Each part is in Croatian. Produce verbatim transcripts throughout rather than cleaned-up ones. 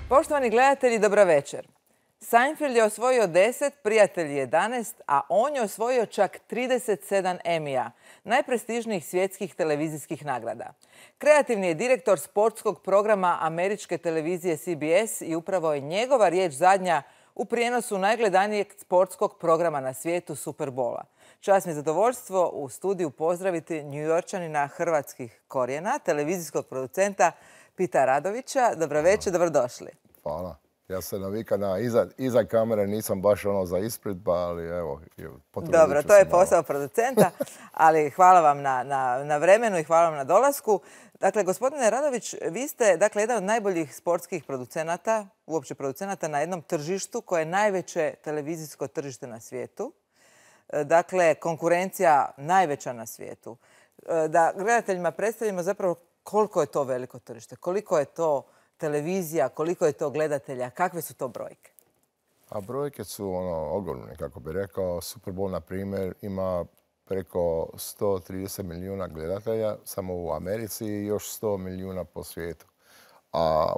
Poštovani gledatelji, dobra večer. Seinfeld je osvojio deset, Prijatelji jedanaest, a on je osvojio čak trideset sedam Emija, najprestižnijih svjetskih televizijskih nagrada. Kreativni je direktor sportskog programa američke televizije C B S i upravo je njegova riječ zadnja u prijenosu najgledanijeg sportskog programa na svijetu Super Bowla. Čast mi je zadovoljstvo u studiju pozdraviti Njujorčanina hrvatskih korijena, televizijskog producenta Pita Radovića. Dobro večer, dobrodošli. Hvala. Ja se navikam na iza, iza kamere, nisam baš ono za ispred, pa ali evo, potrudit ću Dobro, se to je malo. posao producenta, ali hvala vam na, na, na vremenu i hvala vam na dolasku. Dakle, gospodine Radović, vi ste dakle, jedan od najboljih sportskih producenata, uopće producenata na jednom tržištu koje je najveće televizijsko tržište na svijetu. Dakle, konkurencija najveća na svijetu. Da gledateljima predstavimo zapravo koliko je to veliko tržište, koliko je to televizija, koliko je to gledatelja, kakve su to brojke? A brojke su ono, ogromne, kako bi rekao. Super Bowl, na primjer, ima preko sto trideset milijuna gledatelja samo u Americi i još sto milijuna po svijetu. A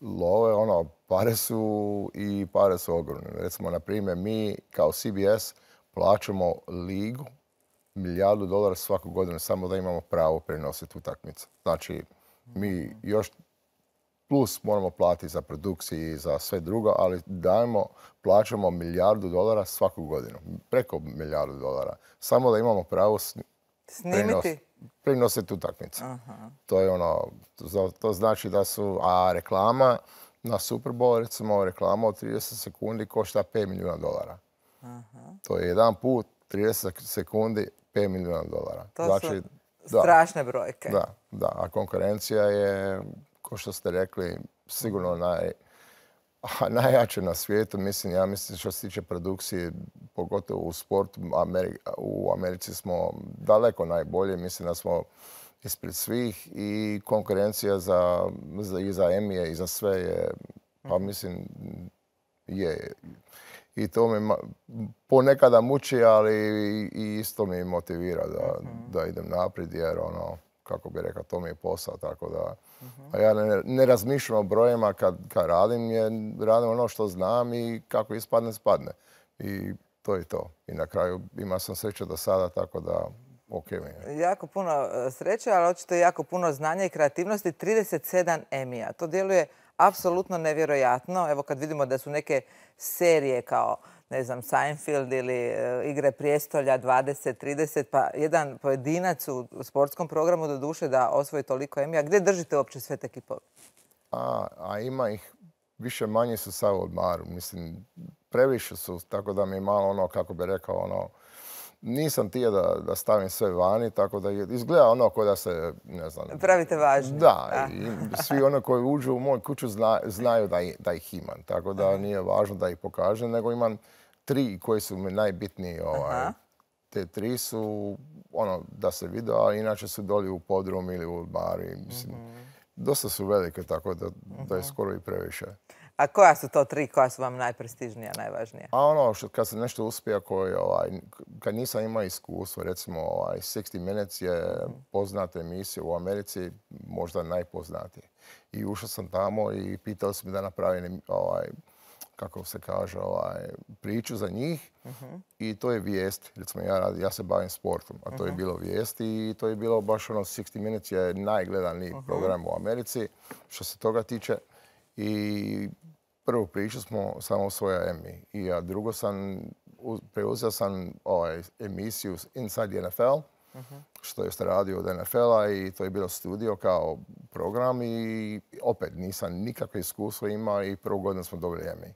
love, ono, pare su i pare su ogromne. Recimo, na primjer, mi kao C B S plaćamo ligu milijardu dolara svaku godinu samo da imamo pravo prenositi utakmice. Znači, mi još plus moramo platiti za produkciju i za sve drugo, ali dajemo, plaćamo milijardu dolara svaku godinu. Preko milijardu dolara. Samo da imamo pravo snimiti, prenositi utakmice. To je ono, to znači da su, a reklama na Super Bowl, recimo reklama od trideset sekundi košta pet milijuna dolara. Aha. To je jedan put, trideset sekundi, pet milijuna dolara. To znači, su strašne brojke. Da, da, a konkurencija je, kao što ste rekli, sigurno naj, najjače na svijetu. Mislim, ja mislim što se tiče produkcije, pogotovo u sportu, Ameri u Americi smo daleko najbolje. Mislim da smo ispred svih i konkurencija za, za, i za Emije i za sve je, pa mislim, je. I to me ponekada muči, ali i isto me motivira da, da idem naprijed, jer ono, kako bi rekao, to mi je posao, tako da a ja ne, ne razmišljam o brojima kad, kad radim, jer radim ono što znam i kako ispadne, spadne. I to je to. I na kraju imao sam sreće do sada, tako da ok mi je. Jako puno sreće, ali očito je jako puno znanja i kreativnosti. trideset sedam Emija. To djeluje apsolutno nevjerojatno. Evo kad vidimo da su neke serije kao, ne znam, Seinfeld ili uh, Igre prijestolja dvadeset, trideset, pa jedan pojedinac u sportskom programu do duše da osvoji toliko Emija. Gdje držite uopće sve te kipove? A, a ima ih, više manje su sad u odmaru. Mislim, previše su, tako da mi je malo ono, kako bi rekao, ono, nisam htio da, da stavim sve vani, tako da izgleda ono kao da se, ne znam... Pravite važno. Da, i svi ono koji uđu u moju kuću zna, znaju da, da ih imam, tako da nije važno da ih pokažem, nego imam tri koji su mi najbitniji. Ovaj. Te tri su ono da se vide, a inače su doli u podrum ili u bari. Mislim, mm-hmm. Dosta su velike, tako da, da je skoro i previše. A koja su to tri koja su vam najprestižnija, najvažnija? A ono, što, kad se nešto uspije, koji, ovaj, kad nisam imao iskustvo, recimo ovaj, šezdeset Minutes je poznata emisija u Americi, možda najpoznatija. I ušao sam tamo i pitali su mi da napravim ovaj, kako se kaže, ovaj, priču za njih. Uh-huh. I to je vijest. Recimo, ja, radi, ja se bavim sportom, a to uh-huh. je bilo vijest i to je bilo baš ono, šezdeset Minutes je najgledaniji uh-huh. program u Americi što se toga tiče. I prvu priču smo samo osvojili Emmy. I a drugo sam, preuzeo sam ovaj, emisiju Inside the N F L, uh-huh. što je radio od N F L-a i to je bilo studio kao program i opet nisam nikakve iskustvo imao i prvu godinu smo dobili Emmy.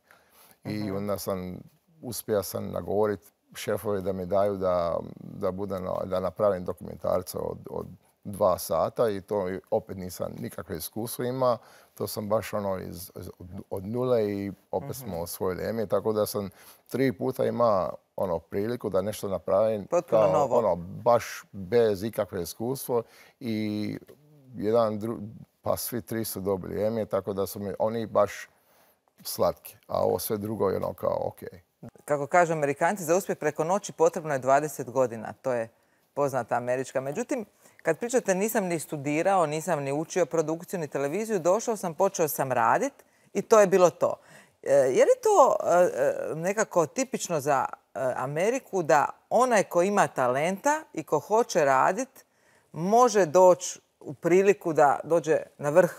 I onda sam, uspio sam nagovoriti šefove da mi daju da, da, bude, da napravim dokumentarca od, od dva sata i to opet nisam nikakve iskustvo imao. To sam baš ono iz, od nule i opet smo osvojili Emmy, tako da sam tri puta imao ono priliku da nešto napravim potpuno novo. Ono, baš bez ikakve iskustvo i jedan dru, pa svi tri su dobili Emmy, tako da su mi oni baš slatki, a ovo sve drugo je ono kao ok. Kako kažu Amerikanci, za uspjeh preko noći potrebno je dvadeset godina. To je poznata američka. Međutim, kad pričate nisam ni studirao, nisam ni učio produkciju ni televiziju, došao sam, počeo sam raditi i to je bilo to. Je li to nekako tipično za Ameriku da onaj ko ima talenta i ko hoće raditi može doći u priliku da dođe na vrh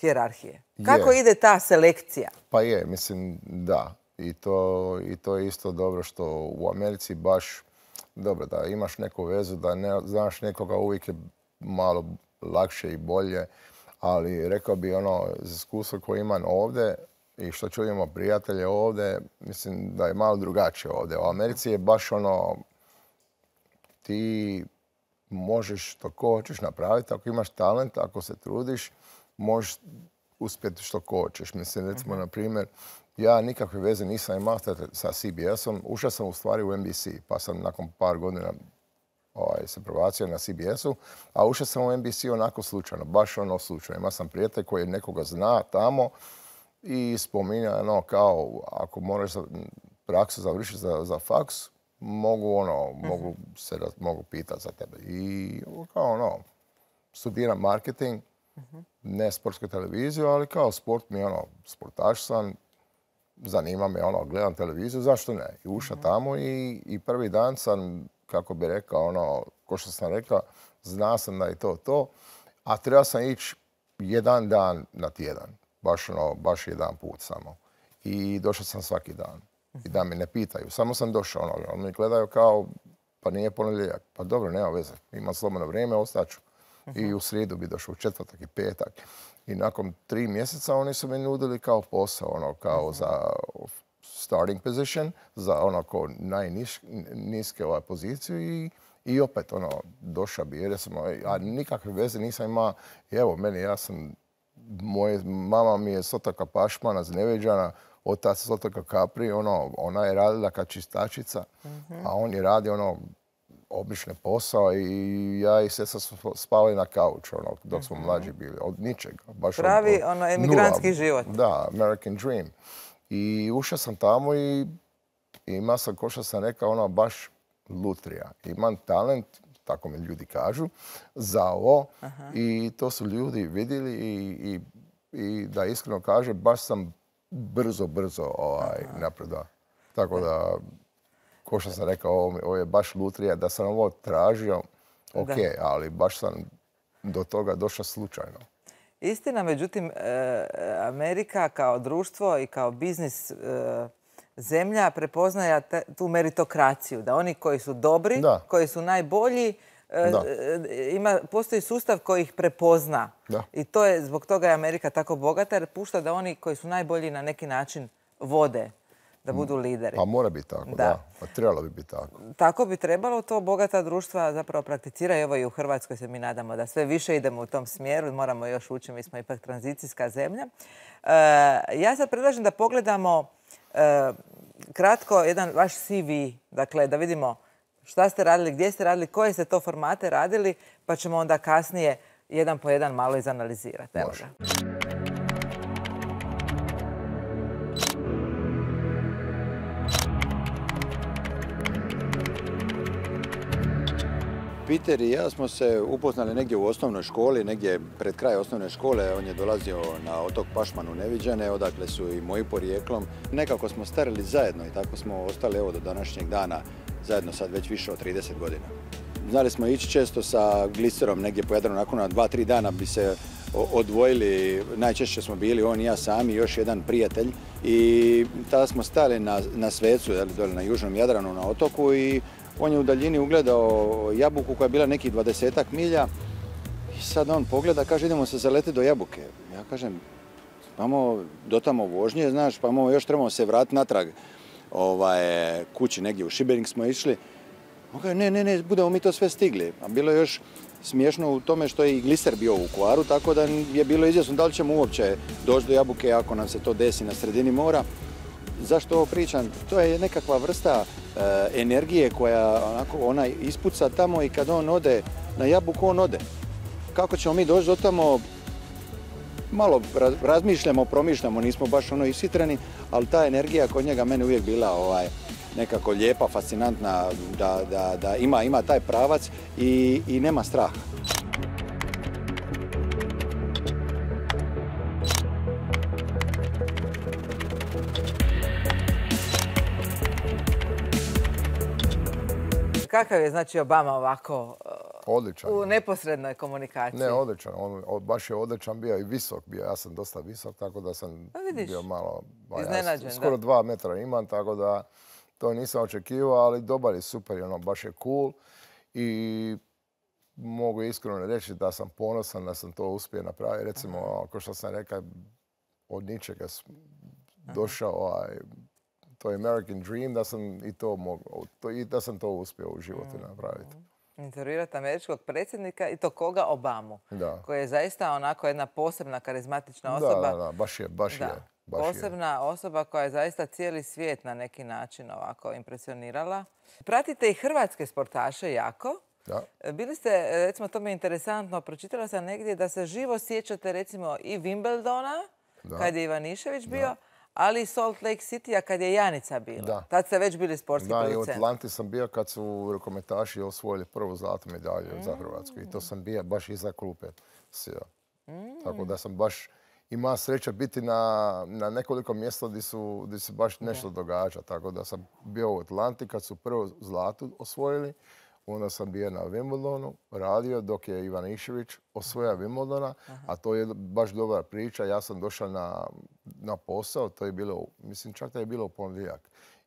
hijerarhije? Kako je. ide ta selekcija? Pa je, mislim da. I to, i to je isto dobro što u Americi baš dobro da imaš neku vezu, da ne znaš nekoga uvijek je malo lakše i bolje, ali rekao bi ono, iz iskustva koje imam ovdje i što čujemo prijatelje ovdje, mislim da je malo drugačije ovdje. U Americi je baš ono, ti možeš što ko hoćeš napraviti, ako imaš talent, ako se trudiš, možeš uspjeti što ko hoćeš. Mislim, recimo, na primjer, ja nikakve veze nisam imao sa C B S-om. Ušao sam u stvari u N B C, pa sam nakon par godina ovaj, se prebacio na C B S-u, a ušao sam u N B C onako slučajno, baš ono slučajno. Imao sam prijatelj koji nekoga zna tamo i spominja ono kao ako moraš praksu završiti za, za faks, mogu ono, uh-huh. mogu se mogu pitati za tebe. I kao ono, studiram marketing, uh-huh. ne sportsku televiziju, ali kao sport mi ono, sportaš sam, zanima me ono, gledam televiziju, zašto ne? I ušao uh-huh. tamo i, i prvi dan sam, kako bi rekao, ono, ko što sam rekao, zna sam da je to to, a treba sam ići jedan dan na tjedan. Baš, ono, baš jedan put samo. I došao sam svaki dan. I da me ne pitaju. Samo sam došao. Ono, oni mi gledaju kao, pa nije ponedjeljak. Pa dobro, nema veze. Imam slobodno vrijeme, ostaću. I u srijedu bi došao, u četvrtak i petak. I nakon tri mjeseca oni su mi nudili kao posao, ono, kao za starting position, za ono ko najniske ovaj poziciju i I opet, ono, došao bi, jer sam, a nikakve veze nisam imao. I evo, meni, ja sam, moje, mama mi je s otoka Pašmana, Zneveđana, otac s otoka Kapri, ono, ona je radila kao čistačica, mm-hmm. a on je radio, ono, obični posao i ja i sestra smo spavali na kauču, ono, dok smo mm-hmm. mlađi bili, od ničega. Baš Pravi, od, od ono, emigrantski nula. život. Da, American Dream. I ušao sam tamo i imao sam, ko što sam rekao, ono, baš lutrija. Imam talent, tako mi ljudi kažu, za ovo. Aha. I to su ljudi vidjeli i, i, i da iskreno kažem, baš sam brzo, brzo ovaj, napredao. Tako da, ko što sam rekao, ovo, ovo je baš lutrija. Da sam ovo tražio, ok, da. Ali baš sam do toga došao slučajno. Istina, međutim, Amerika kao društvo i kao biznis zemlja prepoznaje tu meritokraciju, da oni koji su dobri, da. koji su najbolji, da. Ima, postoji sustav koji ih prepozna. Da. I to je, zbog toga je Amerika tako bogata, jer pušta da oni koji su najbolji na neki način vode, da budu lideri. Pa mora biti tako, da. da. Pa trebalo bi biti tako. Tako bi trebalo, to bogata društva zapravo prakticira. Evo i u Hrvatskoj se mi nadamo da sve više idemo u tom smjeru. Moramo još ući, mi smo ipak tranzicijska zemlja. E, ja sad predlažem da pogledamo e, kratko jedan vaš C V, dakle da vidimo šta ste radili, gdje ste radili, koje ste to formate radili, pa ćemo onda kasnije jedan po jedan malo izanalizirati. Evo ga. Peter i ja smo se upoznali negdje u osnovnoj školi, negdje pred kraj osnovne škole. On je dolazio na otok Pašman u Neviđane, odakle su i moji porijeklom. Nekako smo starili zajedno i tako smo ostali evo do današnjeg dana zajedno sad već više od trideset godina. Znali smo ići često sa gliserom negdje po Jadranu, nakon na dva, tri dana bi se odvojili. Najčešće smo bili on i ja sami, još jedan prijatelj. I tada smo stali na, na Svecu, dole na južnom Jadranu na otoku i on je u daljini ugledao jabuku koja je bila nekih dvadesetak milja i sad on pogleda, kaže idemo se zaletiti do jabuke. Ja kažem, imamo do tamo vožnje, znaš, pa imamo, još trebamo se vratiti natrag ovaj, kući negdje u Šibenik smo išli. On kaže, ne, ne, ne, budemo mi to sve stigli. A bilo je još smiješno u tome što je i gliser bio u Vukovaru, tako da je bilo izvjesno da li ćemo uopće doći do jabuke ako nam se to desi na sredini mora. Zašto ovo pričam? To je nekakva vrsta e, energije koja onako, ona ispuca tamo i kad on ode na jabuku, on ode. Kako ćemo mi doći do tamo? Malo razmišljamo, promišljamo, nismo baš ono ishitreni, ali ta energija kod njega meni uvijek bila ovaj, nekako lijepa, fascinantna, da, da, da ima, ima taj pravac i, i nema straha. Kakav je znači Obama ovako Odličan. u neposrednoj komunikaciji? Ne, odličan. On, on baš je odličan bio i visok bio. Ja sam dosta visok, tako da sam Pa vidiš, bio malo... ba, ja iznenađen, skoro da. dva metra imam, tako da to nisam očekivao, ali dobar je, super je, ono, baš je cool. I mogu iskreno reći da sam ponosan da sam to uspio napraviti. Recimo, ono, kao što sam rekao, od ničega s- došao ovaj, to je American Dream, da sam i to mogao, to, i da sam to uspio u životu napraviti. Intervjuirati američkog predsjednika i to koga? Obamu. Da. Koji je zaista onako jedna posebna, karizmatična Da, osoba. da, da, baš je, baš Da. je. Baš je. Posebna osoba koja je zaista cijeli svijet na neki način ovako impresionirala. Pratite i hrvatske sportaše jako. Da. Bili ste, recimo, to mi je interesantno, pročitala sam negdje da se živo sjećate recimo i Wimbledona, Da. kad je Ivanišević bio, ali i Salt Lake City-a kad je Janica bila. Da. Tad ste već bili sportski Da, i u producent. Atlanti sam bio kad su rukometaši osvojili prvu zlatnu medalju za Hrvatsku. I to sam bio baš iza klupe. Sjeo. Tako da sam baš imao sreće biti na, na nekoliko mjesta gdje, su, gdje se baš nešto događa. Tako da sam bio u Atlanti kad su prvu zlatu osvojili. Onda sam bio na Wimbledonu, radio dok je Ivanišević osvoja Wimbledona, a to je baš dobra priča. Ja sam došao na, na posao, to je bilo, mislim čak da je bilo u ponedjeljak.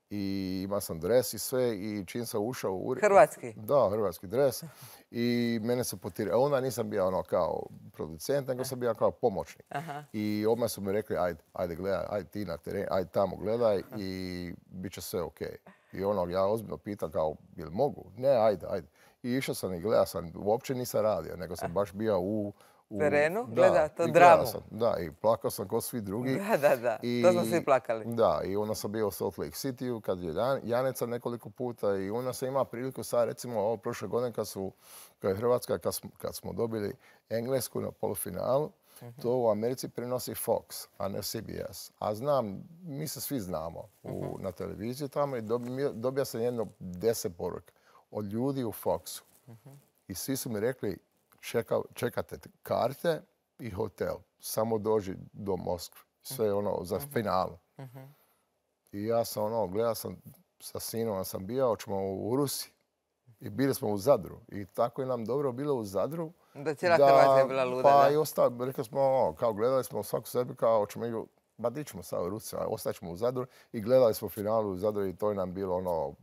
I imao sam dres i sve i čim sam ušao u ured... Hrvatski? Da, hrvatski dres. I mene su potirali. Onda nisam bio ono kao producent, nego sam bio kao pomoćnik. I odmah su mi rekli, ajde, ajde gledaj, ajde ti na teren, ajde tamo gledaj i bit će sve okej. I ono, ja ozbiljno pitam kao, jel mogu? Ne, ajde, ajde. I išao sam i gledao sam, uopće nisam radio, nego sam baš bio u... u Terenu? Da, Gleda to i gledao dramu. sam, da, i plakao sam kao svi drugi. Da, da, da. To smo svi plakali. Da, i onda sam bio u Salt Lake City kad je Jan- Janica nekoliko puta i onda sam imao priliku sad, recimo, ovo prošle godine kad su, kad je Hrvatska, kad smo, kad smo dobili Englesku na polufinalu, to u Americi prenosi Fox, a ne C B S. A znam, mi se svi znamo u, na televiziji tamo i dobio, dobio sam jedno deset poruka od ljudi u Foxu. I svi su mi rekli, čeka, čekate karte i hotel, samo dođi do Moskve. Sve ono za finalu. I ja sam ono, gledao sam sa sinom, sam bio, hoćemo u Rusiji. I bili smo u Zadru. I tako je nam dobro bilo u Zadru. Da cijela Hrvatska je bila luda, Pa da. i ostalo, rekli smo, ono, kao gledali smo svaku sebi, kao hoćemo ići, ba di ćemo sad u Rusiju, ostaćemo u Zadru. I gledali smo finalu u Zadru i to je nam bilo ono,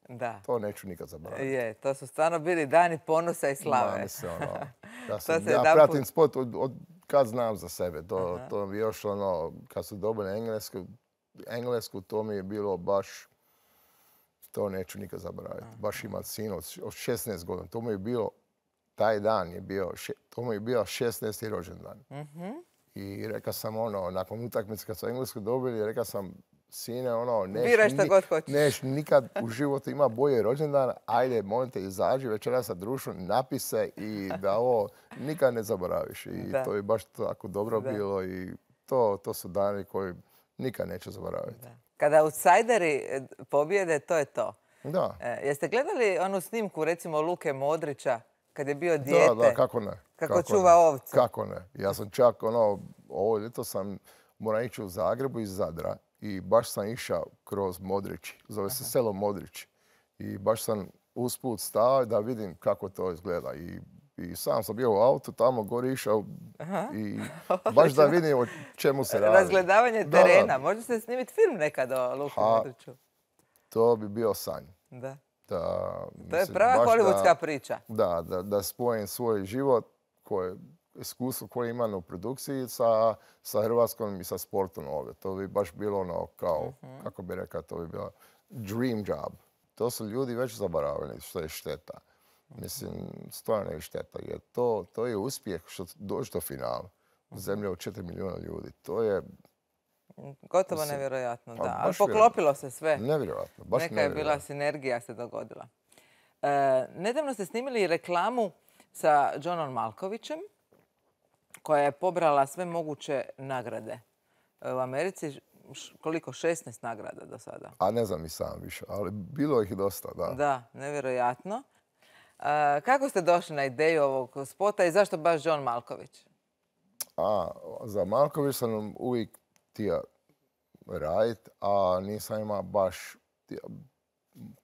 Da. to neću nikad zaboraviti. Je, to su stvarno bili dani ponosa i slave. Ma, mislim, ono, ja, To sam, se ja jedanput- pratim sport od, od kad znam za sebe. To, to mi još ono, kad su dobili englesku, englesku, to mi je bilo baš, to neću nikad zaboraviti. Baš imati sin od, od šesnaest godina. To mu je bilo, taj dan je bio, še- to mu je bio šesnaesti rođendan. I rekao sam ono, nakon utakmice kad su englesku dobili, rekao sam, sine, ono, neš, Biraj šta ni- god hoćeš. neš nikad u životu ima bolje rođendan, ajde, molim te, izađi večeras sa društvom, napise i da ovo nikad ne zaboraviš. I Da. to je baš tako dobro Da. bilo i to, to su dani koji nikad neću zaboraviti. Kada outsideri e, pobjede, to je to. Da. E, jeste gledali onu snimku, recimo, Luke Modrića, kad je bio dijete? Da, da, kako ne. Kako čuva ovce. Kako ne. Ja sam čak, ono, ovo ljeto sam morao ići u Zagrebu iz Zadra i baš sam išao kroz Modrići. Zove se selo Modrići. I baš sam usput stao da vidim kako to izgleda. I, i sam sam bio u autu, tamo gore išao i baš da vidim o čemu se radi. Razgledavanje Da, da. terena. Može se snimiti film nekad o Luku Ha, Modriću. To bi bio sanj. Da. Da, To je mislim, prava baš hollywoodska da- priča. Da, da, da spojim svoj život, koje, iskustvo koje imam u produkciji sa, sa Hrvatskom i sa sportom ovdje. To bi baš bilo ono kao, kako bi rekao, to bi bilo dream job. To su ljudi već zaboravili što je šteta. Mislim, stvarno je šteta. Jer to, to je uspjeh što dođe do finala. Zemlja od četiri milijuna ljudi. To je Gotovo Mislim, nevjerojatno, pa da. Ali baš poklopilo se sve. nevjerojatno. Baš Neka je bila nevjerojatno. sinergija se dogodila. E, nedavno ste snimili reklamu sa Johnom Malkovićem, koja je pobrala sve moguće nagrade. E, u Americi š- koliko? šesnaest nagrada do sada. A ne znam i sam više, ali bilo ih dosta, da. Da, nevjerojatno. E, kako ste došli na ideju ovog spota i zašto baš John Malković? A, za Malković sam uvijek htio raditi, a nisam imao baš, htio-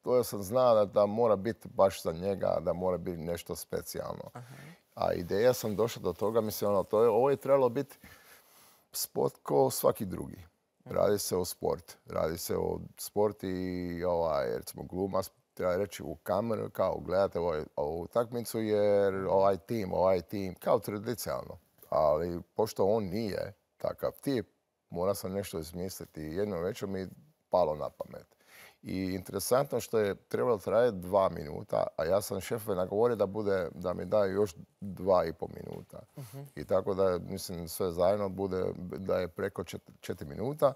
to ja sam znao da, da mora biti baš za njega, da mora biti nešto specijalno. Aha. A ideja sam došla do toga, mislim, ono, to je, ovo je trebalo biti sport kao svaki drugi. Radi se o sport. Radi se o sport i ovaj, recimo glumac treba reći u kameru kao gledate ovaj, ovu utakmicu jer ovaj tim, ovaj tim, kao tradicionalno. Ali pošto on nije takav tip, mora sam nešto izmisliti. Jednom večer mi je palo na pamet. I interesantno što je trebalo trajati dva minuta, a ja sam šefove nagovorio da, bude, da mi daju još dva i pol minuta. Uh-huh. I tako da, mislim, sve zajedno bude da je preko četiri, četiri minuta.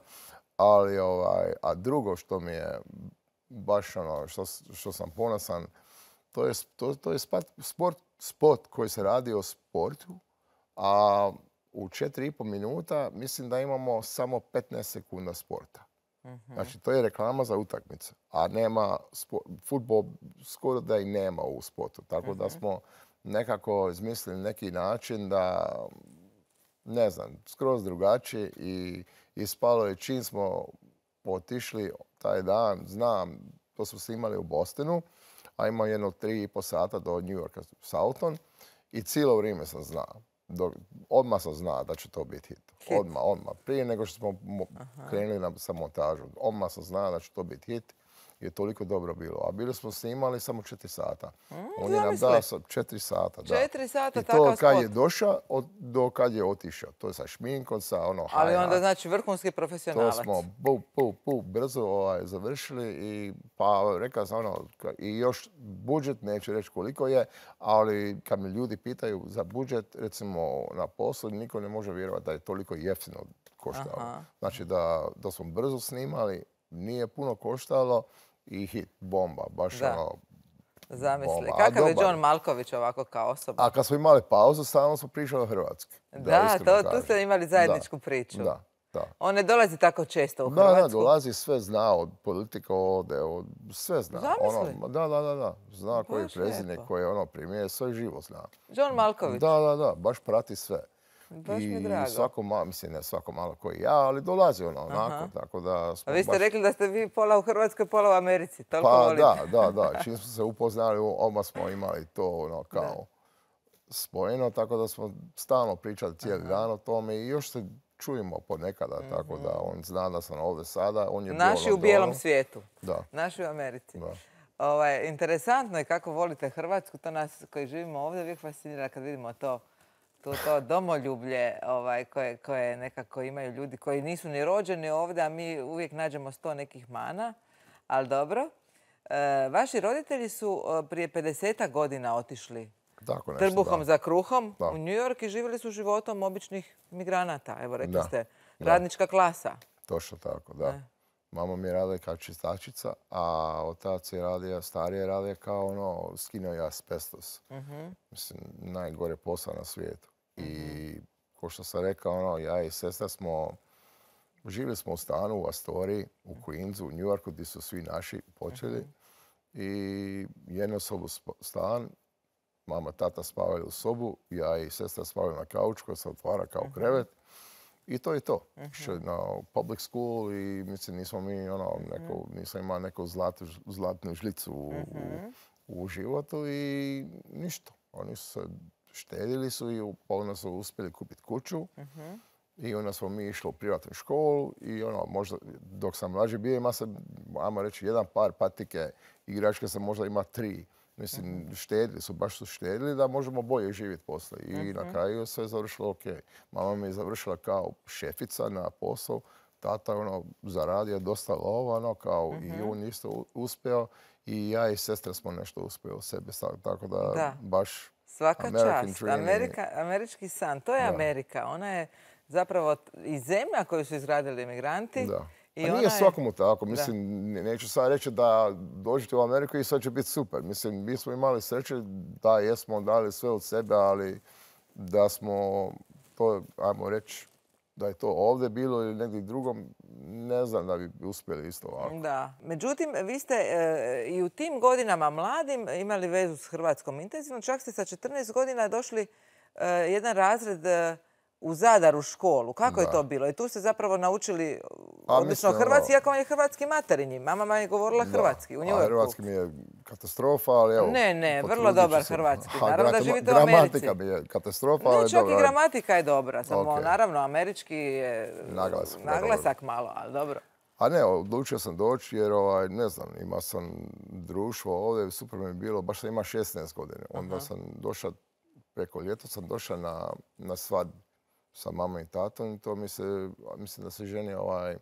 Ali, ovaj, a drugo što mi je baš ono, što, što sam ponosan, to je, to, to je sport, sport koji se radi o sportu, a u četiri i pol minuta mislim da imamo samo petnaest sekunda sporta. Uh-huh. Znači, to je reklama za utakmicu, a nema, fudbal skoro da i nema u sportu. Tako uh-huh. da smo nekako izmislili neki način da, ne znam, skroz drugačije i ispalo je čim smo otišli taj dan, znam, to smo snimali u Bostonu, a ima jedno tri i po sata do New Yorka, Southampton i cijelo vrijeme sam znao. Do, odmah sam znao da će to biti hit. hit. Odmah, odmah. Prije nego što smo mo- krenuli na, sa montažom. Odmah sam znao da će to biti hit. Je toliko dobro bilo. A bili smo snimali samo četiri sata. Mm, On je nam dao četiri sata. Da. Četiri sata, I takav to kad spot. je došao od, do kad je otišao. To je sa šminkom, sa ono... Ali onda znači vrhunski profesionalac. To smo pu, pu, pu, brzo ovaj, završili i pa rekao sam ono, i još budžet, neću reći koliko je, ali kad me ljudi pitaju za budžet, recimo na poslu, niko ne može vjerovati da je toliko jeftino koštalo. Aha. Znači da, da smo brzo snimali, nije puno koštalo, i hit, bomba, baš da. ono... Zamisli. Bomba. Kakav je John Malković ovako kao osoba? A kad smo imali pauzu, stalno smo pričali hrvatski. Da, da to, tu ste imali zajedničku da. priču. Da, da. On ne dolazi tako često u da, Hrvatsku? Da, dolazi, sve zna, od politika ode, od, sve zna. Zamisli? Ono, da, da, da, da. Zna baš koji je predsjednik, koji je ono premijer, sve živo zna. John Malković? Da, da, da, baš prati sve. Baš mi I drago. svako malo, mislim ne svako malo koji ja, ali dolazi ono onako, tako da smo A vi ste baš... rekli da ste vi pola u Hrvatskoj, pola u Americi, toliko Pa volite. da, da, da, čim smo se upoznali, odmah smo imali to ono kao da. spojeno, tako da smo stalno pričali cijeli Aha. dan o tome i još se čujemo ponekada, mm-hmm. tako da on zna da sam ovdje sada, on je Naši u bijelom dolu. Svijetu, da. Naši u Americi. Da. Ovaj, interesantno je kako volite Hrvatsku, to nas koji živimo ovdje uvijek fascinira kad vidimo to. To, to domoljublje ovaj, koje, koje nekako imaju ljudi koji nisu ni rođeni ovdje, a mi uvijek nađemo sto nekih mana, ali dobro. E, vaši roditelji su prije pedesetak godina otišli Tako nešto, trbuhom da. za kruhom da. u New York i živjeli su životom običnih migranata. Evo, rekli da. ste, da. radnička klasa. Točno tako, da. E. Mama mi je radila kao čistačica, a otac je radio, starije je radio kao ono, skinuo je asbestos. Uh-huh. Mislim, najgore posao na svijetu. Uh-huh. I ko što sam rekao, ono, ja i sestra smo, živjeli smo u stanu u Astoriji, u Queensu, u New Yorku, gdje su svi naši počeli. Uh-huh. I jednu sobu stan, mama, tata spavali u sobu, ja i sestra spavali na kauču koja se otvara kao uh-huh. krevet. I to je to. Uh-huh. Na public school i mislim nismo mi ono, neko, uh-huh. nisam imao neku zlatu, zlatnu žlicu u, uh-huh. u, u životu i ništa. Oni su se štedili su i polovno su uspjeli kupiti kuću. Uh-huh. I onda smo mi išli u privatnu školu i ono, možda dok sam mlađi bio ima se, ajmo reći, jedan par patike, igračke sam možda ima tri. Mislim, uh-huh. štedili su, baš su štedili da možemo bolje živjeti poslije. I uh-huh. na kraju sve je završilo ok. Mama mi je završila kao šefica na posao. Tata ono, zaradio dosta lova, ono, kao uh-huh. i on isto uspio. I ja i sestra smo nešto uspjeli u sebi. Tako da, da. baš svaka American čast. dream. Amerika, američki san. To je da. Amerika. Ona je zapravo i zemlja koju su izgradili imigranti. Da. I a nije svakomu tako. Mislim, da. neću sad reći da dođete u Ameriku i sad će biti super. Mislim, mi smo imali sreće da jesmo dali sve od sebe, ali da smo to, ajmo reći, da je to ovdje bilo ili negdje drugom, ne znam da bi uspjeli isto ovako. Da. Međutim, vi ste e, i u tim godinama mladim imali vezu s Hrvatskom intenzivno. Čak ste sa četrnaest godina došli e, jedan razred e, u Zadar u školu. Kako je Da. to bilo? I tu ste zapravo naučili A, odlično mislim, hrvatski, ono- iako vam je hrvatski materinji. Mama vam je govorila hrvatski u Da. New A Yorku. hrvatski mi je katastrofa, ali evo... Ne, ne, vrlo potrudit ću dobar se. hrvatski. A, Naravno da grama- živite u Americi. Gramatika mi je katastrofa, ali Ne, čak dobro. i gramatika je dobra, samo Ok. naravno američki je Naglasak, da, naglasak malo, ali dobro. A ne, odlučio sam doći jer, ovaj, ne znam, imao sam društvo ovdje, super mi je bilo, baš sam imao šesnaest godina. Onda sam došao, preko ljeta sam došao na, na svadbu sa mamom i tatom i to mi se, mislim da se ženi ovaj,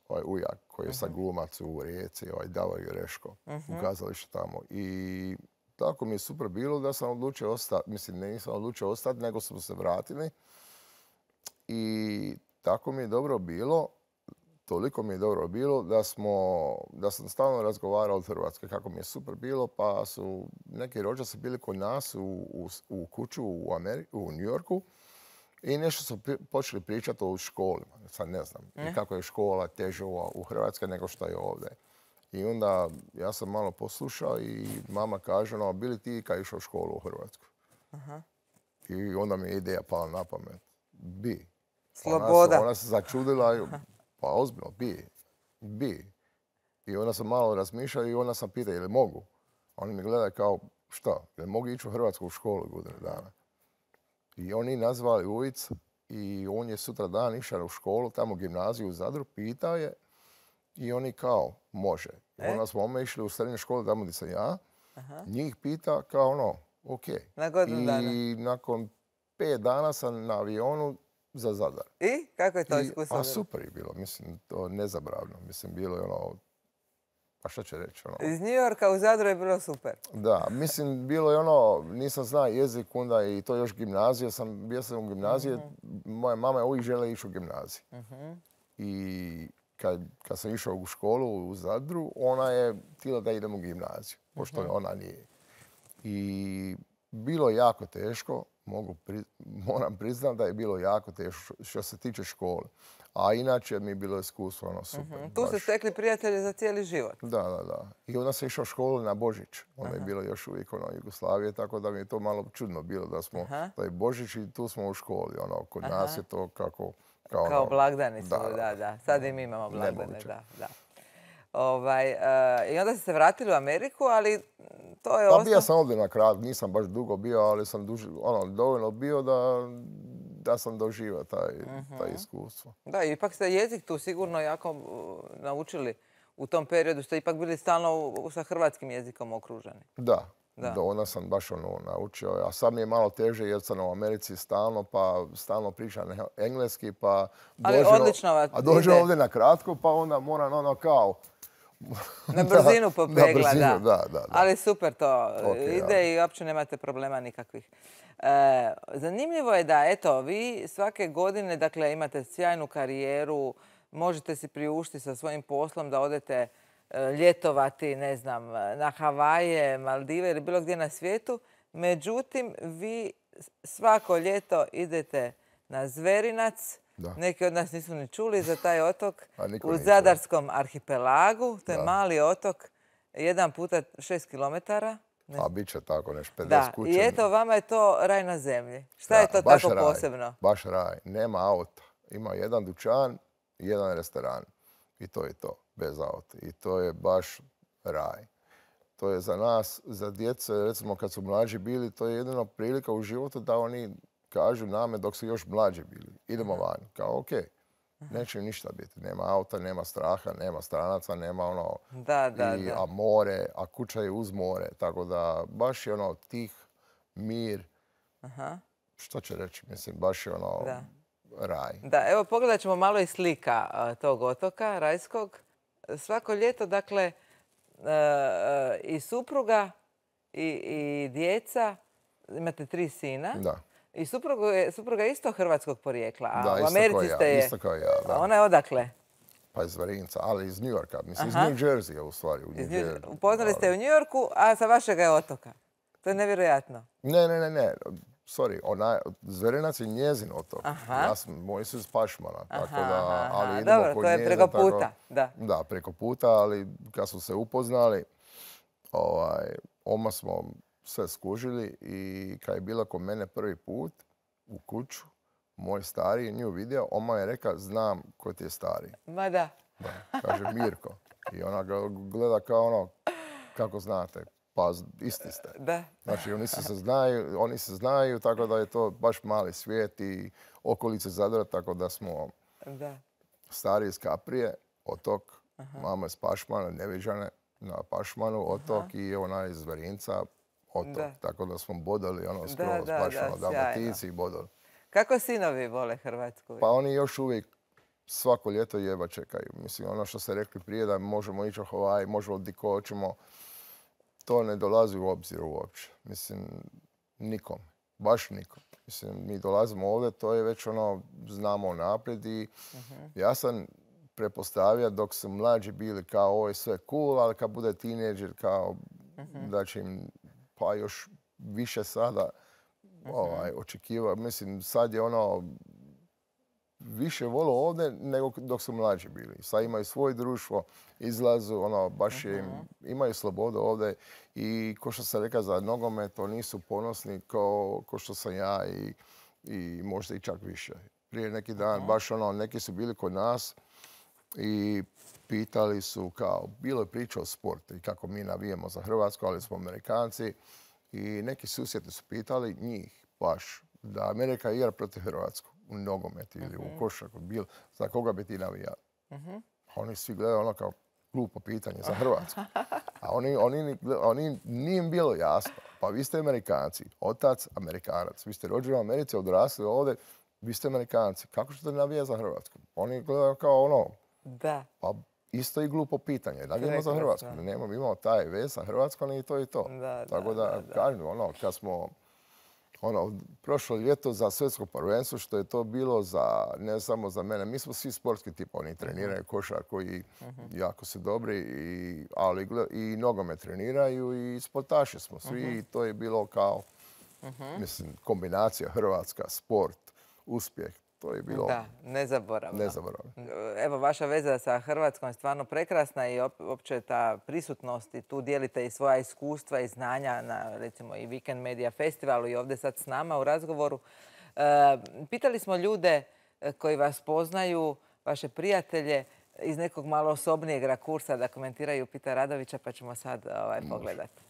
ovaj ujak koji je sad glumac u Rijeci, ovaj Davor Jureško, u kazalištu tamo. I tako mi je super bilo da sam odlučio ostati, mislim, ne nisam odlučio ostati, nego smo se vratili. I tako mi je dobro bilo, toliko mi je dobro bilo da, smo, da sam stalno razgovarao od Hrvatske kako mi je super bilo, pa su neki rođaci bili kod nas u, u, u kuću u, Ameri- u New Yorku i nešto su pri- počeli pričati o školima. Sad ne znam i kako je škola teže u, u Hrvatskoj nego što je ovdje. I onda ja sam malo poslušao i mama kaže, no, bili ti kad išao u školu u Hrvatsku? Aha. I onda mi je ideja pala na pamet. Bi. Sloboda. Ona se, ona se začudila, i, pa ozbiljno, bi, bi. I onda sam malo razmišljao i onda sam pitao, je li mogu? Oni mi gledaju kao, šta, je li mogu ići u Hrvatsku u školu godinu dana? I oni nazvali ulic i on je sutra dan išao u školu, tamo u gimnaziju u Zadru, pitao je i oni kao, može. I onda smo ome išli u srednju školu, tamo gdje sam ja, njih pita kao ono, ok. Na godinu I dana. nakon pet dana sam na avionu za Zadar. I kako je to I- iskustvo? A bilo? super je bilo, mislim, to nezabravno. Mislim, bilo je ono, pa šta će reći, ono. Iz New Yorka u Zadru je bilo super. Da, mislim, bilo je ono, nisam znao jezik, onda i to još gimnazija, sam, bio sam u gimnaziji, moja mama je uvijek žele ići u gimnaziju. I kad, kad sam išao u školu u Zadru, ona je htjela da idem u gimnaziju, pošto ona nije. I bilo je jako teško, mogu pri, moram priznati da je bilo jako teško što se tiče škole. A inače mi je bilo iskustvo ono super. Tu ste baš. stekli prijatelje za cijeli život. Da, da, da. I onda sam išao u školu na Božić. Onda je bilo još uvijek ono Jugoslavije, tako da mi je to malo čudno bilo da smo, Aha. da je Božić i tu smo u školi. Ono, kod nas je to kako... Kao, Kao ono, blagdani su, da, da, da. da. Sad i mi imamo blagdane, Nemoguće. da, da. Ovaj, e, I onda ste se vratili u Ameriku, ali to je Pa ostalo... bio sam ovdje na krat, nisam baš dugo bio, ali sam duži, ono, dovoljno bio da, da sam doživio taj, taj iskustvo. Da, ipak ste jezik tu sigurno jako uh, naučili u tom periodu. Ste ipak bili stalno u- sa hrvatskim jezikom okruženi. Da, Da. da. onda sam baš ono naučio. A sad mi je malo teže jer sam u Americi stalno, pa stalno pričam engleski, pa Ali dođem, odlično vam a dođem ide. ovdje na kratko, pa onda moram ono kao... Na brzinu na popegla, brzinu, da. da, da, da. Ali super to Ok, ide ja. i uopće nemate problema nikakvih. E, zanimljivo je da, eto, vi svake godine, dakle, imate sjajnu karijeru, možete si priuštiti sa svojim poslom da odete e, ljetovati, ne znam, na Havaje, Maldive ili bilo gdje na svijetu. Međutim, vi svako ljeto idete na Zverinac. Da. Neki od nas nisu ni čuli za taj otok. A niko U nije čuo. Zadarskom arhipelagu. To je Da. mali otok, jedan puta šest kilometara. A bit će tako neš pedeset Da, kuća. i eto, vama je to raj na zemlji. Šta je Da, to baš tako raj, posebno? Baš raj. Nema auta. Ima jedan dućan i jedan restoran. I to je to, bez auta. I to je baš raj. To je za nas, za djece, recimo kad su mlađi bili, to je jedino prilika u životu da oni kažu name dok su još mlađi bili. Idemo van. Kao, ok, neće im ništa biti. Nema auta, nema straha, nema stranaca, nema ono... Da, da, I, da. a more, a kuća je uz more. Tako da baš je ono tih, mir, Aha. što će reći, mislim, baš je ono Da. raj. Da, evo pogledat ćemo malo i slika a, tog otoka rajskog. Svako ljeto, dakle, e, e, i supruga i, i djeca, imate tri sina. Da, I supruga je, supruga je isto hrvatskog porijekla, a da u isto Americi kao ja, ste je. isto kao ja, A da. ona je odakle? Pa iz Varinca, ali iz New Yorka, mislim Aha. iz New Jerseya u stvari. U New Iz New- Jersey. Upoznali ste je u New Yorku, a sa vašega je otoka. To je nevjerojatno. Ne, ne, ne, ne, sorry, ona, Zverinac je njezin otok. Aha. Ja sam, moji su iz Pašmana, tako Aha, da, aha, ali aha. idemo Dobro, kod to je njeze, preko tako- puta, da. Da, preko puta, ali kad smo se upoznali, ovaj, oma smo sve skužili i kad je bila kod mene prvi put u kuću, moj stariji nju vidio, on je rekao, znam ko ti je stariji. Ma da. Da, kaže Mirko. I ona ga gleda kao ono, kako znate, pa isti ste. Da. Znači, oni se znaju, oni se znaju, tako da je to baš mali svijet i okolice Zadra, tako da smo da. Stari iz Kaprije, otok, aha. Mama iz Pašmana, Neviđane na Pašmanu, otok, aha. I ona iz Verinca, otok. Da. Tako da smo bodali ono skroz, da, baš ono Dalmatinci i bodali. Kako sinovi vole Hrvatsku? Pa oni još uvijek svako ljeto jeba čekaju. Mislim, ono što ste rekli prije da možemo ići u Hawaii, možemo di ko hoćemo, to ne dolazi u obzir uopće. Mislim, nikom. Baš nikom. Mislim, mi dolazimo ovdje, to je već ono, znamo naprijed i uh-huh. Ja sam prepostavio dok su mlađi bili kao ovo je sve cool, ali kad bude tineđer kao uh-huh. da će im pa još više sada uh-huh. ovaj, očekiva. Mislim, sad je ono više vole ovdje nego dok su mlađi bili. Sad imaju svoje društvo, izlazu, ono, baš je, uh-huh. imaju slobodu ovdje i ko što sam rekao za nogomet, to nisu ponosni kao ko što sam ja i, i možda i čak više. Prije neki dan, uh-huh. baš ono, neki su bili kod nas i pitali su kao, bilo je priča o sportu i kako mi navijemo za Hrvatsku, ali smo Amerikanci i neki susjedi su pitali njih baš da Amerika igra protiv Hrvatsku u nogometu ili uh-huh. u košarku, bil, za koga bi ti navijali? Uh-huh. Oni svi gledaju ono kao glupo pitanje za Hrvatsku. A oni, oni, oni nije im bilo jasno. Pa vi ste Amerikanci, otac Amerikanac. Vi ste rođeni u Americi, odrasli ovdje, vi ste Amerikanci. Kako ćete navijati za Hrvatsku? Oni gledaju kao ono, da. Pa isto i glupo pitanje. Navijamo za Hrvatsku. Nemamo, imamo taj vez sa Hrvatskom i to i to. Da, tako da, da, da. kažem, ono, kad smo ono, prošlo ljeto za svjetsko prvenstvo, što je to bilo za, ne samo za mene, mi smo svi sportski tipa, oni treniraju košarku i uh-huh. jako su dobri, i, ali i nogomet treniraju i sportaši smo svi uh-huh. i to je bilo kao, uh-huh. mislim, kombinacija Hrvatska, sport, uspjeh. To je bilo da, nezaboravno. nezaboravno. Evo, vaša veza sa Hrvatskom je stvarno prekrasna i opće ta prisutnost i tu dijelite i svoja iskustva i znanja na, recimo, i Weekend Media Festivalu i ovdje sad s nama u razgovoru. E, pitali smo ljude koji vas poznaju, vaše prijatelje, iz nekog malo osobnijeg rakursa da komentiraju Pita Radovića, pa ćemo sad ovaj, pogledati.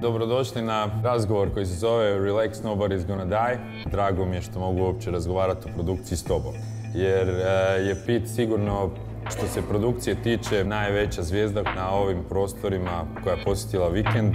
Dobrodošli na razgovor koji se zove Relax, Nobody's Gonna Die. Drago mi je što mogu uopće razgovarati o produkciji s tobom. Jer je Pit sigurno, što se produkcije tiče, najveća zvijezda na ovim prostorima koja je posjetila Vikend.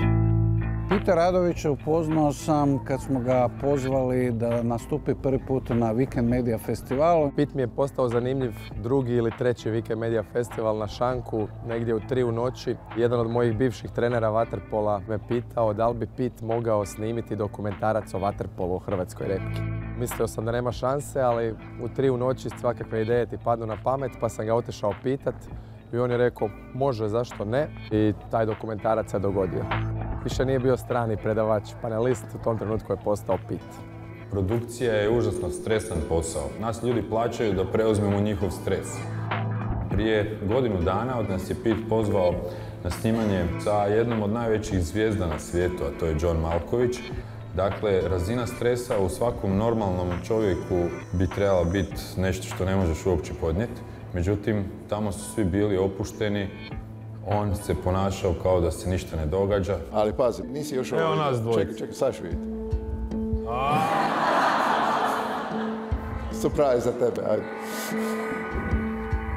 Pita Radovića upoznao sam kad smo ga pozvali da nastupi prvi put na Weekend Media Festivalu. Pit mi je postao zanimljiv drugi ili treći Weekend Media Festival na Šanku, negdje u tri u noći. Jedan od mojih bivših trenera vaterpola me pitao da li bi Pit mogao snimiti dokumentarac o vaterpolu u Hrvatskoj repki. Mislio sam da nema šanse, ali u tri u noći svakakve ideje ti padnu na pamet, pa sam ga otišao pitat i on je rekao može, zašto ne, i taj dokumentarac se dogodio. Više nije bio strani predavač, panelist, u tom trenutku je postao Pit. Produkcija je užasno stresan posao. Nas ljudi plaćaju da preuzmemo njihov stres. Prije godinu dana od nas je Pit pozvao na snimanje sa jednom od najvećih zvijezda na svijetu, a to je John Malkovich. Dakle, razina stresa u svakom normalnom čovjeku bi trebala biti nešto što ne možeš uopće podnijeti. Međutim, tamo su svi bili opušteni. On se ponašao kao da se ništa ne događa. Ali pazi, nisi još ovo... Evo nas dvojica. Čekaj, čekaj, sad ću vidjeti. Surprise za tebe, ajde.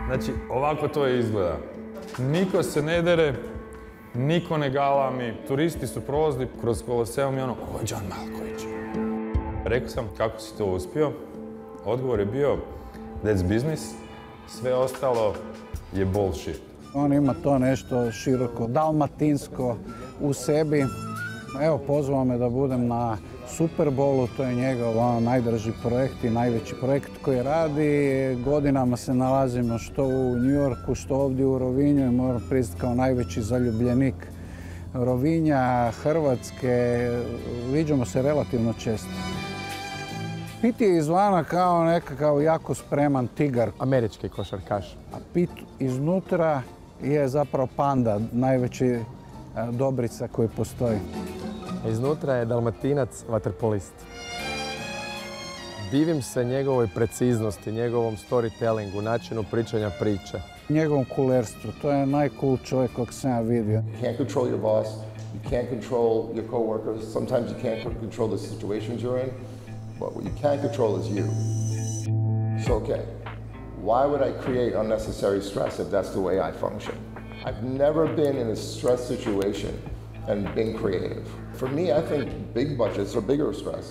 Znači, ovako to izgleda. Niko se ne dere, niko ne galami. Turisti su prolazili kroz Koloseum i ono, ovo je John Malkovich. Rekao sam, kako si to uspio? Odgovor je bio, that's business. Sve ostalo je bullshit. On ima to nešto široko, dalmatinsko u sebi. Evo, pozvao me da budem na Super Bowlu, to je njegov ono, najdraži projekt i najveći projekt koji radi. Godinama se nalazimo što u New Yorku, što ovdje u Rovinju i moram priznati kao najveći zaljubljenik Rovinja, Hrvatske. Viđamo se relativno često. Pit je izvana kao nekakav jako spreman tigar. Američki košarkaš. A Pit iznutra je zapravo panda, najveći dobrica koji postoji. Iznutra je dalmatinac vaterpolist. Divim se njegovoj preciznosti, njegovom storytellingu, načinu pričanja priče. Njegovom kulerstvu, to je najcool čovjek kog sam ja vidio. You can't control your boss, you can't control your coworkers, sometimes you can't control the situations you're in, but what you can control is you. So, okay, why would I create unnecessary stress if that's the way I function? I've never been in a stress situation and been creative. For me, I think big budgets are bigger stress.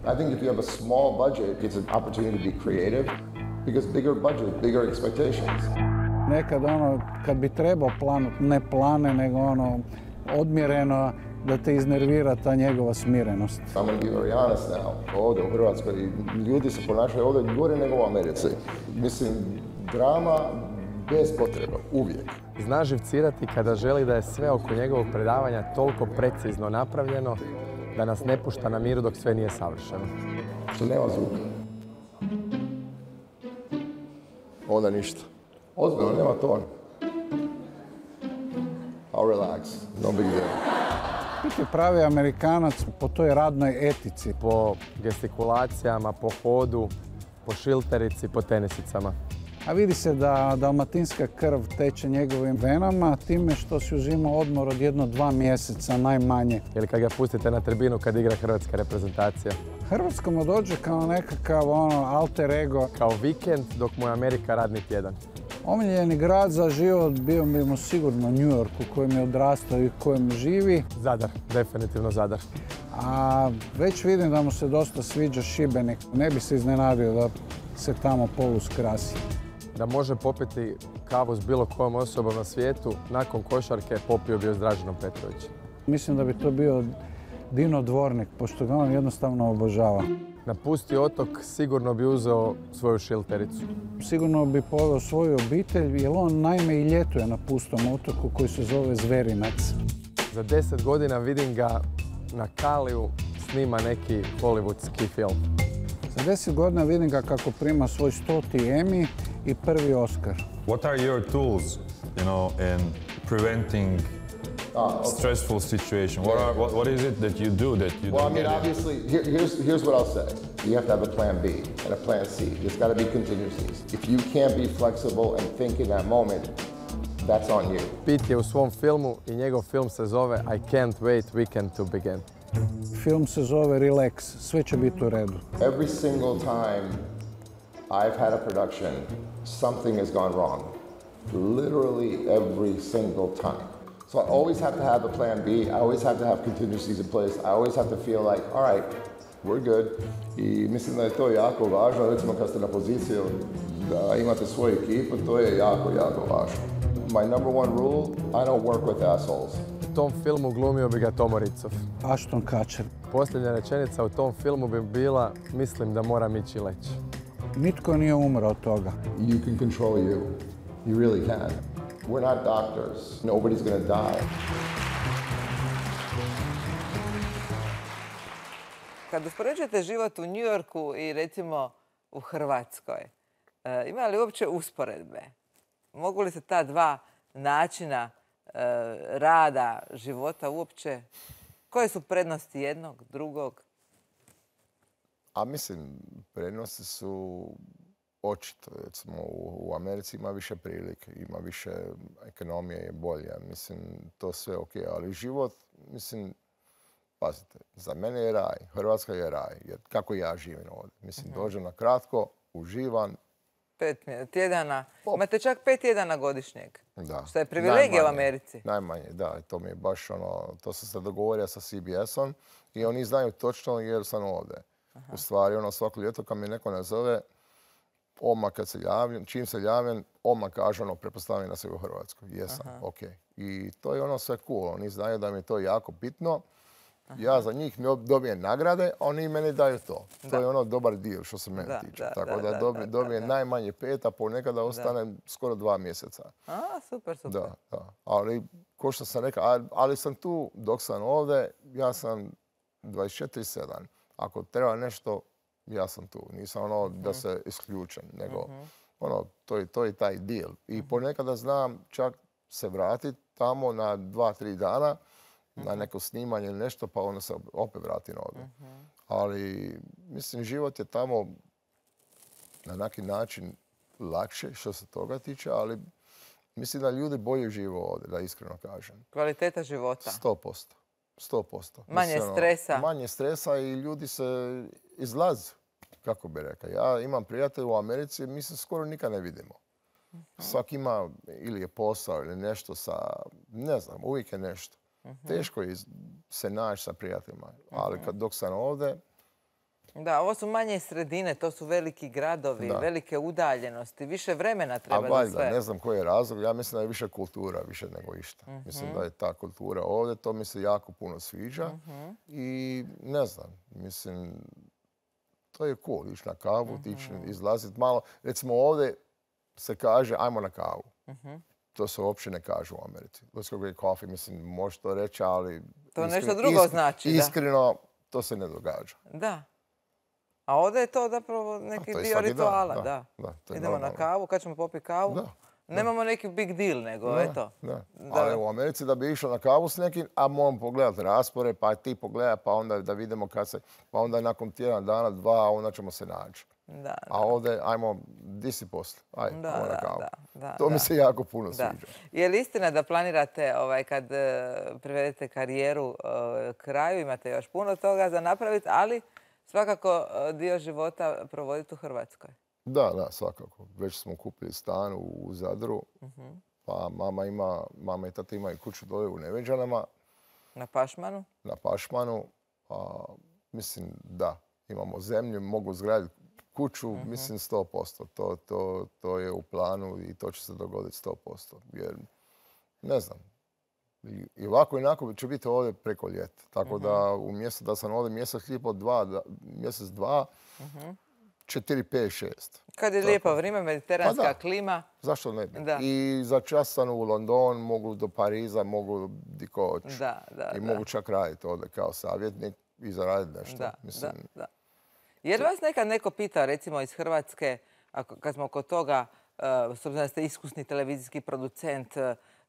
I think if you have a small budget, it's an opportunity to be creative because bigger budget, bigger expectations. Nekad ono, kad bi trebao planut, ne plane, nego ono, odmjereno, da te iznervira ta njegova smirenost. I'm going to be very honest now. Ovdje u Hrvatskoj ljudi se ponašaju ovdje gore nego u Americi. Mislim, drama bez potreba, uvijek. Zna živcirati kada želi da je sve oko njegovog predavanja toliko precizno napravljeno da nas ne pušta na miru dok sve nije savršeno. Što nema zvuka. Onda ništa. Ozbiljno, nema ton. I'll relax, no big deal. Biti pravi Amerikanac po toj radnoj etici. Po gestikulacijama, po hodu, po šilterici, po tenisicama. A vidi se da dalmatinska krv teče njegovim venama time što si uzima odmor od jedno dva mjeseca najmanje. Ili kad ga pustite na tribinu kad igra hrvatska reprezentacija. Hrvatsko mu dođe kao nekakav ono, alter ego. Kao vikend dok mu je Amerika radni tjedan. Omiljeni grad za život bio bi mu sigurno New York u kojem je odrastao i u kojem živi. Zadar, definitivno Zadar. A već vidim da mu se dosta sviđa Šibenik. Ne bi se iznenadio da se tamo polus krasi. Da može popiti kavu s bilo kojom osobom na svijetu, nakon košarke popio bi je s Draženom Petrovićem. Mislim da bi to bio Dino Dvornik, pošto ga on jednostavno obožava. Na pusti otok sigurno bi uzeo svoju šiltericu. Sigurno bi poveo svoju obitelj, jer on naime i ljetuje na pustom otoku koji se zove Zverinac. Za deset godina vidim ga na Kaliju snima neki hollywoodski film. Za deset godina vidim ga kako prima svoj stoti Emmy i prvi Oscar. What are your tools, you know, in preventing Ah, okay. stressful situation? What, are, what, what is it that you do that you Well, I don't mean, get it? obviously, here, here's, here's what I'll say. You have to have a plan B and a plan C. There's got to be contingencies. If you can't be flexible and think in that moment, that's on you. Pete je u svom filmu i njegov film se zove I Can't Wait Weekend to Begin. Film se zove Relax, sve će biti u redu. Every single time I've had a production, something has gone wrong. Literally every single time. So I always have to have a plan B. I always have to have contingencies in place. I always have to feel like, all right, we're good. I mislim da je to jako važno, recimo kad ste na poziciju da imate svoju ekipu, to je jako, jako važno. My number one rule, I don't work with assholes. U tom filmu glumio bi ga Tomo Ricov. Ashton Kutcher. Posljednja rečenica u tom filmu bi bila mislim da moram ići leći. Nitko nije umro od toga. You can control you. You really can. We're not doctors. Nobody's gonna die. Kad uspoređujete život u New Yorku i recimo u Hrvatskoj, e, ima li uopće usporedbe? Mogu li se ta dva načina e, rada, života uopće, koje su prednosti jednog, drugog? A mislim, prednosti su očito. Recimo, u, u Americi ima više prilike, ima više, ekonomija je bolja. Mislim, to sve ok, ali život, mislim, pazite, za mene je raj, Hrvatska je raj, jer kako ja živim ovdje. Mislim, uh-huh. dođem na kratko, uživam. Pet tjedana, Pop. Imate čak pet tjedana godišnjeg. Da. Što je privilegija najmanje, u Americi. Najmanje, da. To mi je baš ono, to sam se dogovorio sa C B S-om i oni znaju točno jer sam ovdje. Aha. U stvari, ono, svako ljeto kad mi neko nazove, odmah kad se javim, čim se javim, odmah kaže ono, pretpostavljam da se u Hrvatskoj. Jesam, Aha. ok. I to je ono sve cool. Oni znaju da mi je to jako bitno. Aha. Ja za njih dobijem nagrade, a oni meni daju to. Da. To je ono dobar dio što se mene da, tiče. Da, Tako da, da dobijem, da, dobijem da, najmanje pet, a ponekada ostane da. skoro dva mjeseca. A, super, super. Da, da. Ali, ko što sam rekao, ali, ali sam tu dok sam ovdje, ja sam dvadeset četiri sedam. Ako treba nešto, ja sam tu. Nisam ono uh-huh. da se isključem, nego uh-huh. ono, to je, to je taj deal. I uh-huh. ponekada znam čak se vratiti tamo na dva, tri dana na neko snimanje ili nešto, pa onda se opet vratim ovdje. Ali, mislim, život je tamo na neki način lakše što se toga tiče, ali mislim da ljudi bolje žive ovdje, da iskreno kažem. Kvaliteta života. Sto posto. Sto posto. Manje stresa. Manje stresa i ljudi se izlaze, kako bi rekao. Ja imam prijatelje u Americi, mi se skoro nikad ne vidimo. Svak ima ili je posao ili nešto sa, ne znam, uvijek je nešto. Teško je se naći sa prijateljima, ali kad dok sam ovdje... Da, ovo su manje sredine, to su veliki gradovi, velike udaljenosti, više vremena treba za sve. A valjda, ne znam koji je razlog, ja mislim da je više kultura, više nego išta. Mislim da je ta kultura ovdje, to mi se jako puno sviđa i ne znam, mislim, to je cool, ići na kavu, tići, izlaziti malo. Recimo ovdje se kaže, ajmo na kavu. To se uopće ne kaže u Americi. Let's go get coffee, mislim, može to reći, ali... To nešto drugo znači, da. Iskreno, to se ne događa. Da. A ovdje je to zapravo neki dio rituala, da. Idemo na kavu, kad ćemo popiti kavu, nemamo neki big deal, nego eto. Ali u Americi da bi išao na kavu s nekim, a moram pogledati raspored, pa ti pogledaj, pa onda da vidimo kad se... Pa onda nakon tjedan dana, dva, onda ćemo se naći. A ovdje, ajmo, di si poslije, ajmo na kavu. To mi se jako puno sviđa. Je li istina da planirate, kad privedete karijeru kraju, imate još puno toga za napraviti, ali svakako dio života provoditi u Hrvatskoj? Da, da, svakako. Već smo kupili stan u Zadru, pa mama ima, mama i tata imaju kuću dole u Neveđanama. Na Pašmanu? Na Pašmanu. Mislim, da, imamo zemlju, mogu zgraditi kuću, mislim sto posto. To, to, to je u planu i to će se dogoditi sto posto. Jer, ne znam, i ovako i onako ću biti ovdje preko ljeta. Tako da umjesto da sam ovdje mjesec i po, dva, mjesec, dva, četiri, pet, šest. Kad je lijepo vrijeme, mediteranska klima. Zašto ne bi? I za čas sam u London, mogu do Pariza, mogu di ko hoću. I mogu čak raditi ovdje kao savjetnik i zaraditi nešto. Da, da, da. Je li vas nekad neko pitao, recimo iz Hrvatske, kad smo kod toga, s obzirom da ste iskusni televizijski producent,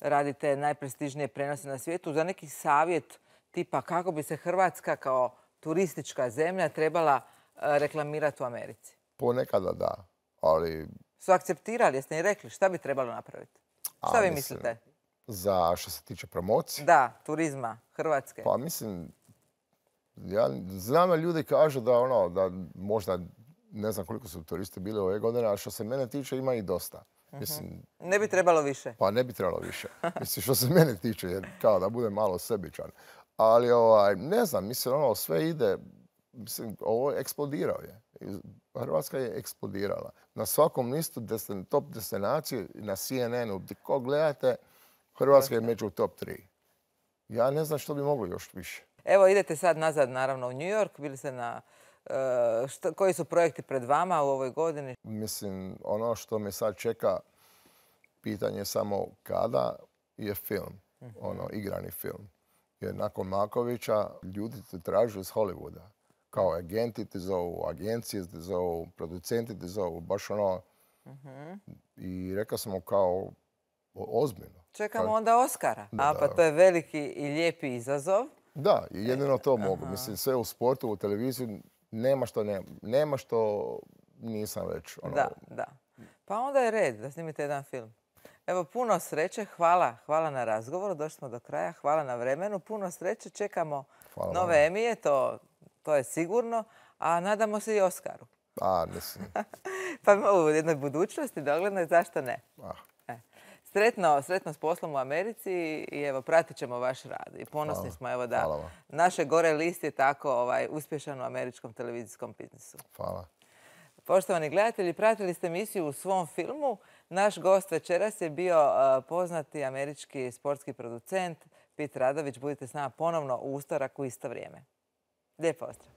radite najprestižnije prenose na svijetu, za neki savjet tipa kako bi se Hrvatska kao turistička zemlja trebala reklamirati u Americi? Ponekada da, ali... Su akceptirali, jeste im rekli šta bi trebalo napraviti? Šta vi mislite? Za što se tiče promocije? Da, turizma, Hrvatske. Pa mislim, ja znam da ljudi kažu da ono, da možda, ne znam koliko su turisti bili ove godine, a što se mene tiče ima i dosta. Mislim, ne bi trebalo više? Pa ne bi trebalo više. Mislim, što se mene tiče, jer kao da budem malo sebičan. Ali ovaj, ne znam, mislim, ono, sve ide, mislim, ovo je eksplodirao je. Hrvatska je eksplodirala. Na svakom listu top destinacije, na C N N-u, gdje ko gledate, Hrvatska je među top tri. Ja ne znam što bi moglo još više. Evo, idete sad nazad, naravno, u New York. Bili ste na... Uh, šta, koji su projekti pred vama u ovoj godini? Mislim, ono što me sad čeka, pitanje je samo kada je film, uh-huh. ono, igrani film. Jer nakon Makovića ljudi te tražu iz Hollywooda. Kao agenti te zovu, agencije te zovu, producenti te zovu, baš ono. Uh-huh. I rekao sam mu kao ozbiljno. Čekamo kao... onda Oscara. Da, A pa da. To je veliki i lijepi izazov. Da, jedino to mogu. Aha. Mislim, sve u sportu, u televiziji, nema što, nema, nema što nisam već. Ono... Da, da. Pa onda je red da snimite jedan film. Evo, puno sreće. Hvala. Hvala na razgovoru. Došli smo do kraja. Hvala na vremenu. Puno sreće. Čekamo Hvala nove vam. Emije. To, to je sigurno. A nadamo se i Oskaru. A, mislim. Pa u jednoj budućnosti, doglednoj, zašto ne? Ah. E. Sretno, sretno s poslom u Americi i evo, pratit ćemo vaš rad. I ponosni Hvala. Smo evo da naše gore list je tako ovaj, uspješan u američkom televizijskom biznisu. Hvala. Poštovani gledatelji, pratili ste emisiju u svom filmu. Naš gost večeras je bio uh, poznati američki sportski producent Pete Radović. Budite s nama ponovno u utorak u isto vrijeme. Lijep pozdrav.